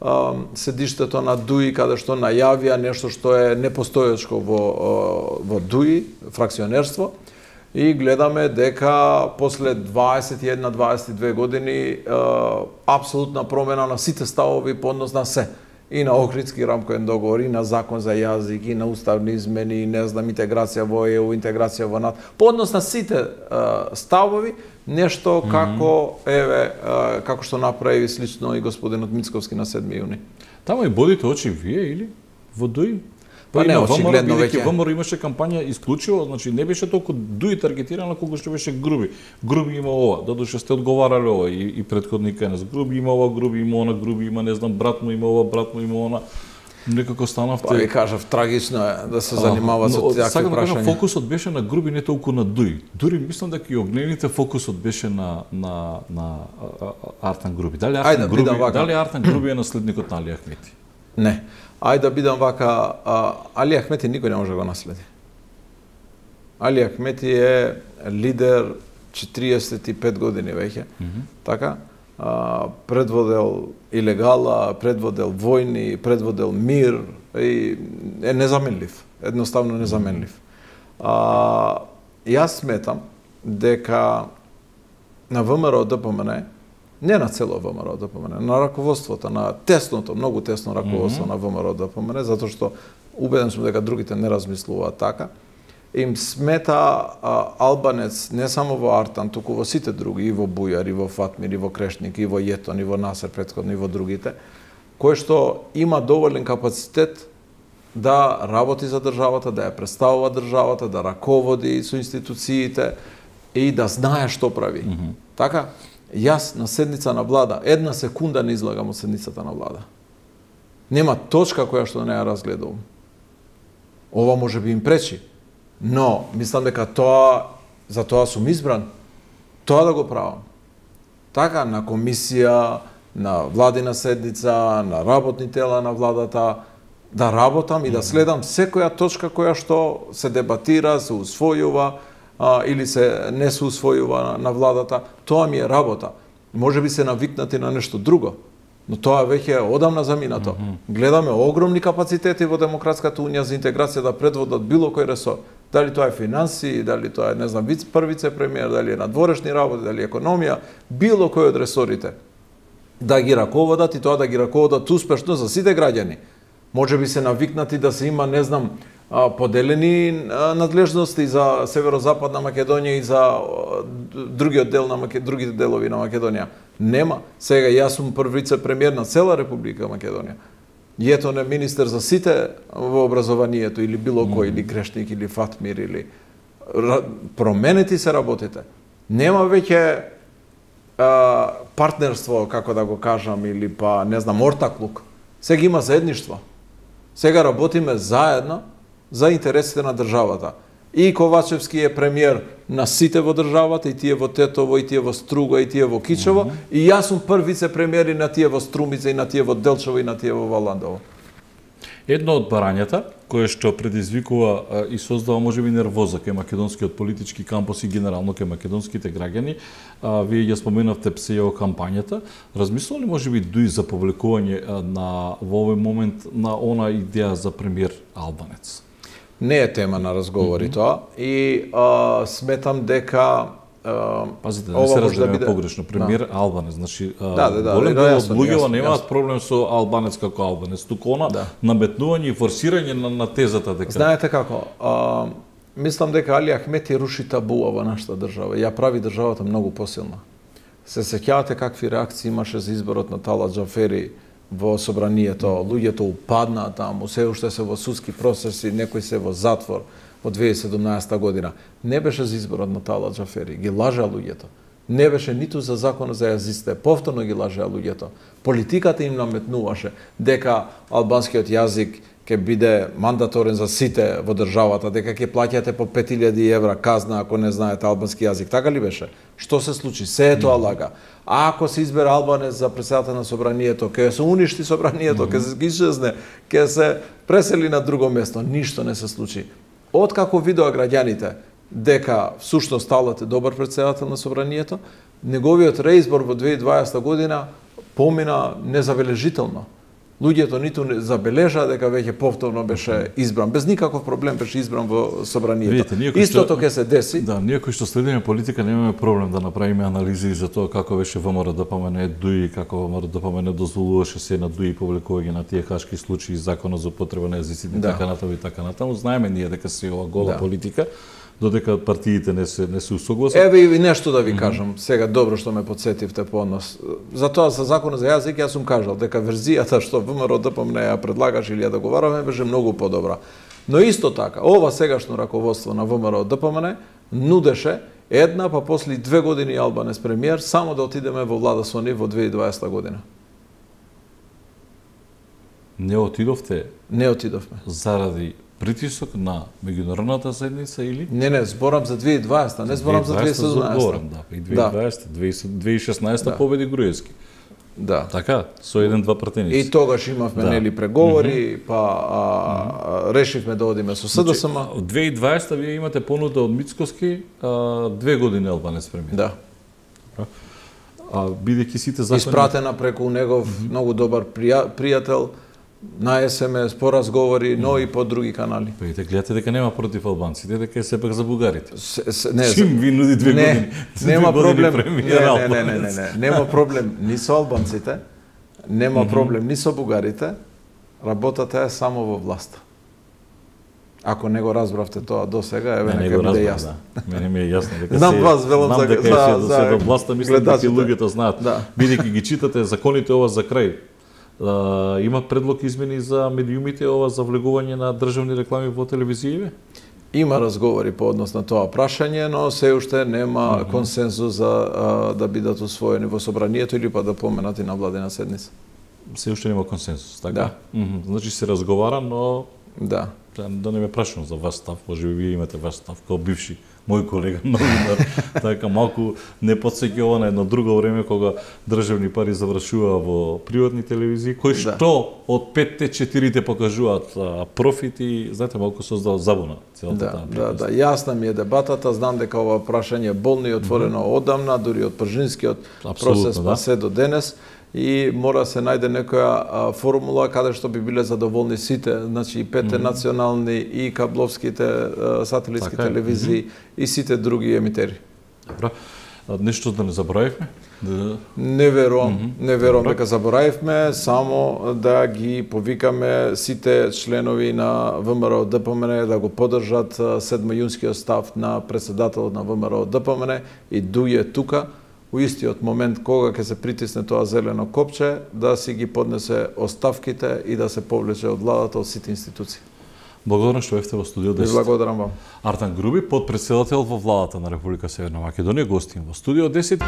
а, седиштето на Дуи, каде што најавија нешто што е непостоечко во, а, во Дуи, фракционерство, и гледаме дека после дваесет и една дваесет и две години а, апсолутна промена на сите ставови по однос на се. И на Охридски рамковен договор, и на закон за јазик, и на уставни измени, и не знам, интеграција во Е У, интеграција во НАТО. По однос на сите а, ставови, нешто mm -hmm. како, еве, а, како што направи слично и господинот Мицковски на седми јуни. Тама и бодите очи вие, или? Во Дуи? Па не, очигледно веќе. ВМРО имаше кампања исклучиво, значи не беше толку Дуи таргетирана колку што беше Груби. Груби има ова, додуше сте одговарале ова и, и претходника на Груби има ова, Груби има она, Груби има, не знам, брат му има ова, брат му има она. Некако станавте. Па ви кажав, трагично е да се занимава со такви прашања. Сакам да кажам, фокусот беше на Груби, не толку на Дуи. Дури мислам дека и огнените фокусот беше на на на Артан Груби. Дали Артан Ајде, Груби, дали Артан Груби е наследникот на Али Ахмети? Не. Ајде да бидам вака, а, Али Ахмети никој не може да го наследи. Али Ахмети е лидер четириесет и пет години веќе, mm -hmm. така? А, предводел илегала, предводел војни, предводел мир и е незаменлив, едноставно незаменлив. А, јас сметам дека на ВМРО ДПМН, не на цело ВМРО ДПМН, на раководството, на тесното, многу тесно раководство mm -hmm. на ВМРО ДПМН, затоа што убеден сум дека другите не размислуваат така, им смета а, албанец не само во Артан, туку во сите други, и во Бујар, и во Фатмир, и во Крешник, и во Јетон, и во Насер претходно, и во другите, кој што има доволен капацитет да работи за државата, да ја представува државата, да раководи со институциите и да знае што прави. Mm -hmm. Така, јас на седница на влада, една секунда не излагам од седницата на влада. Нема точка која што не ја разгледувам. Ова може би им пречи, но мислам дека тоа, за тоа сум избран, тоа да го правам. Така, на комисија, на владина седница, на работни тела на владата, да работам и да следам секоја точка која што се дебатира, се усвојува, а, или се не се усвојува на, на владата, тоа ми е работа. Може би се навикнати на нешто друго, но тоа веќе е одамна заминато. Mm -hmm. Гледаме огромни капацитети во Демократската унија за интеграција да предводат било кој ресор. Дали тоа е финансии, дали тоа е, не знам, виц првице премиер, дали е надворешни работи, дали е економија, било кој од ресорите. Да ги раководат и тоа да ги раководат успешно за сите граѓани. Може би се навикнати да се има, не знам, поделени надлежности за северозападна Македонија и за другиот дел на Маке... другите делови на Македонија. Нема. Сега јас сум прв вице-премиер на цела Република Македонија. Јетон е министер за сите во образованието или било кој, или Крешник, или Фатмир, или променети се работите. Нема веќе а, партнерство, како да го кажам, или па, не знам, ортаклук. Сега има заедништво. Сега работиме заедно за интересите на државата. И Ковачевски е премиер на сите во државата, и тие во Тетово, и тие во Струга, и тие во Кичево, mm -hmm. и јас сум прв вице-премиер и на тие во Струмица, и на тие во Делчево, и на тие во Валандово. Едно од барањата, кое што предизвикува а, и создава можеби нервоза кај македонскиот политички кампус и генерално кај македонските граѓани, а, вие ја споменавте ПСЈО кампањата, размислува ли можеби дуи за повлекување а, на во овој момент на она идеја за премиер албанец? Не е тема на разговори mm -hmm. тоа и а, сметам дека а, пазите, да не се разбереме да биде... погрешно, премиер да. Албанец, значи да, да, да, голем дел од луѓето немаат јасно. проблем со албанец како албанец, туку она да. Наметнување и форсирање на, на тезата дека знаете како, а, мислам дека Али Ахмети руши табуа во нашата држава, ја прави државата многу посилна. Се сеќавате какви реакции имаше за изборот на Талат Џафери во собранието, луѓето упаднаа таму, се уште се во судски процеси, некои се во затвор во две илјади и седумнаесета година. Не беше за изборот на Талат Џафери, ги лажеа луѓето. Не беше ниту за законот за јазиците, повторно ги лажеа луѓето. Политиката им наметнуваше дека албанскиот јазик ќе биде мандаторен за сите во државата, дека ќе плаќате по пет илјади евра казна ако не знаете албански јазик. Така ли беше? Што се случи? Се е тоа лага. А ако се избере албанец за председател на собранието, ќе се уништи собранието, ќе се исчезне, ќе се пресели на друго место. Ништо не се случи. Откако видоа граѓаните дека всушност Талат е добар председател на собранието, неговиот реизбор во две илјади и дваесета година помина незабележително. Луѓето ниту не забележаа дека веќе повторно беше избран, без никаков проблем беше избран во собранието. Видите, истото ќе се деси. Да, ние кои што следиме политика немаме проблем да направиме анализи за тоа како беше ВМРО Д П М Н ДУИ, како ВМРО Д П М Н дозволуваше се на ДУИ повлекување на тие хашки случаи, законот за употреба на јазиците, да. Така натаму и така натаму. Знаеме ние дека се ова гола да. Политика, додека партиите не се не се усогласат. Еве и нешто да ви mm -hmm. кажам. Сега добро што ме потсетивте по однос. Затоа за законот за јазик јас сум кажал дека верзијата што ВМРО Д П М Н ја предлагаше или ја договараме беше многу подобра. Но исто така, ова сегашно раководство на ВМРО Д П М Н нудеше една па после две години албанец премиер само да отидеме во влада со нив во две илјади и дваесета година. Не отидовте? Не отидовме. Заради притисок на меѓународната заедница или? Не, не, зборам за две илјади и дваесета, не зборам за две илјади и седумнаесета. Зборам, да, и две илјади и дваесета, две илјади и шеснаесета да. Победи Груевски. Да. Така, со еден-два пратеници. И тогаш имавме да. Нели преговори, mm -hmm. па а, решивме да одиме со С Д С М. Значи, две илјади и дваесета вие имате понуда од Мицкоски, а, две години албанец премиер. Да. А бидејќи сите закони испратена преку негов mm -hmm. многу добар прија, пријател на С М С по разговори, но и по други канали. Па ите гледате дека нема против албанците, дека е сепак за бугарите. С, с, не, Чим ви нуди две не, години? Нема две проблем. Години не, не, не, не, не, не, нема проблем ни со албанците, нема mm -hmm. проблем ни со бугарите. Работата е само во власта. Ако не го разбравте тоа до сега, еве не нека го биде разбрав, јасно. да. Мене ми е јасно дека Знам се вас велам знам за- дека за- е се, за се до власта, мислам дека гледачите. луѓето знаат. Да. Бидејќи ги читате законите ова за крај. А, има предлог измени за медиумите ова за влегување на државни реклами во телевизијиве? Има разговори по однос на тоа прашање, но се уште нема mm -hmm. консензус за а, да бидат усвоени во собранието или па да поменати на владина седница. Се уште нема консенсус, така? Да. Мгм. Значи се разговара, но Да. да, да не ме прашувам за ваш став, може би вие имате ваш став као бивши мој колега новинар, така малку не потсеќа ова на едно друго време кога државни пари завршуваа во приватни телевизии, кои Да. што од петте четирите покажуваат а, профит и знаете малку создава забуна целата Да, таа да, приказна. да, јасна ми е дебатата, знам дека ова прашање е болно и отворено mm -hmm. одамна, дури од Пржинскиот процес да. па се до денес, и мора се најде некоја а, формула каде што би биле задоволни сите, значи и петте mm -hmm. национални и кабловските а, сателитски Така е. телевизии mm -hmm. и сите други емитери. Добро. А, нешто да не заборавивме? Да... Не верувам, mm -hmm. не верувам Добро. дека заборавивме, само да ги повикаме сите членови на ВМРО ДПМН да го поддржат седмојунскиот став на претседателот на ВМРО ДПМН и дује тука у истиот момент кога ќе се притисне тоа зелено копче да си ги поднесе оставките и да се повлече од владата од сите институции. Благодарам што бевте во студио Ви десет. благодарам вам. Артан Груби, подпредседател во владата на Република Северна Македонија, гостин во студио десет.